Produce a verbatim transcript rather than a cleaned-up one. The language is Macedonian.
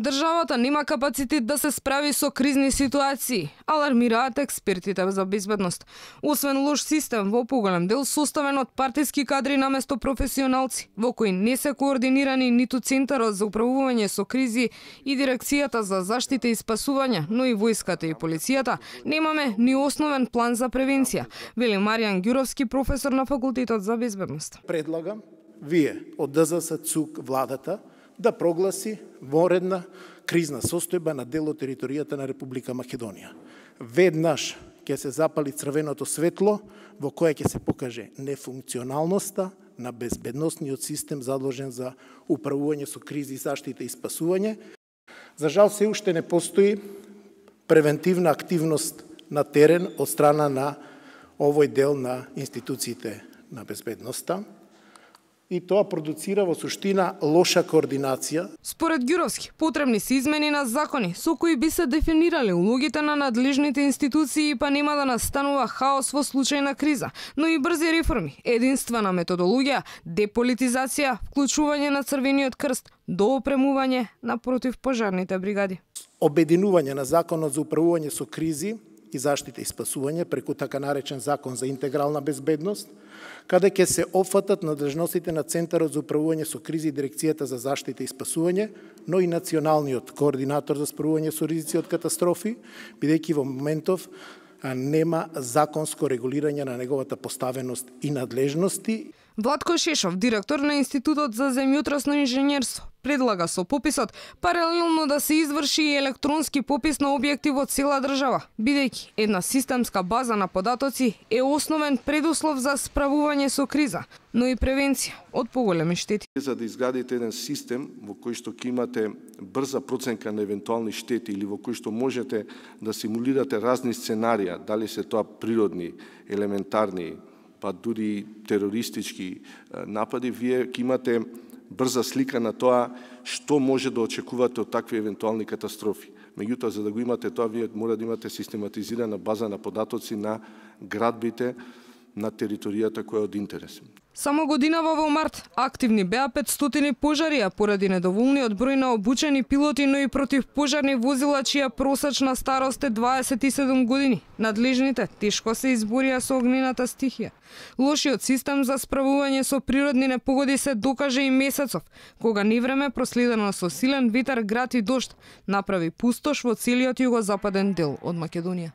Државата нема капацитет да се справи со кризни ситуации, алармираат експертите за безбедност. Освен лош систем во поголем дел составен од партиски кадри наместо професионалци, во кои не се координирани ниту Центарот за управување со кризи и Дирекцијата за заштита и спасување, но и војската и полицијата, немаме ни основен план за превенција, вели Маријан Ѓуровски, професор на Факултетот за безбедност. Предлагам вие од ДЗС, ЦУК, владата да прогласи воредна кризна состојба на дел од територијата на Република Македонија. Веднаш ќе се запали црвеното светло во кое ќе се покаже нефункционалноста на безбедносниот систем задолжен за управување со кризи, заштита и спасување. За жал се уште не постои превентивна активност на терен од страна на овој дел на институциите на безбедноста. И тоа продуцира во суштина лоша координација. Според Ѓуровски, потребни се измени на закони со кои би се дефинирале улогите на надлежните институции, па нема да настанува хаос во случај на криза, но и брзи реформи, единствена методологија, деполитизација, вклучување на Црвениот крст, доопремување на противпожарните бригади. Обединување на законот за управување со кризи и заштита и спасување преку така наречен закон за интегрална безбедност, каде ќе се опфатат надлежностите на Центарот за управување со кризи и Дирекцијата за заштита и спасување, но и националниот координатор за справување со ризици од катастрофи, бидејќи во моментов нема законско регулирање на неговата поставеност и надлежности. Владко Шешов, директор на Институтот за земјотрасно инженерство, предлага со пописот паралелно да се изврши и електронски попис на објекти во цела држава, бидејќи една системска база на податоци е основен предуслов за справување со криза, но и превенција од поголеми штети. За да изградите еден систем во кој што ќе имате брза проценка на евентуални штети или во кој што можете да симулирате разни сценарија, дали се тоа природни, елементарни, па дури терористички напади, вие ќе имате брза слика на тоа што може да очекувате од такви евентуални катастрофи. Меѓутоа, за да го имате тоа, вие мора да имате систематизирана база на податоци на градбите на територијата која е од интерес. Само годинава во март активни беа петстотини пожари, а поради недоволниот број на обучени пилоти, но и противпожарни возила чија просечна старост е дваесет и седум години. Надлежните тешко се изборија со огнената стихија. Лошиот систем за справување со природни непогоди се докаже и месецов, кога невреме проследено со силен ветар, град и дожд направи пустош во целиот југозападен дел од Македонија.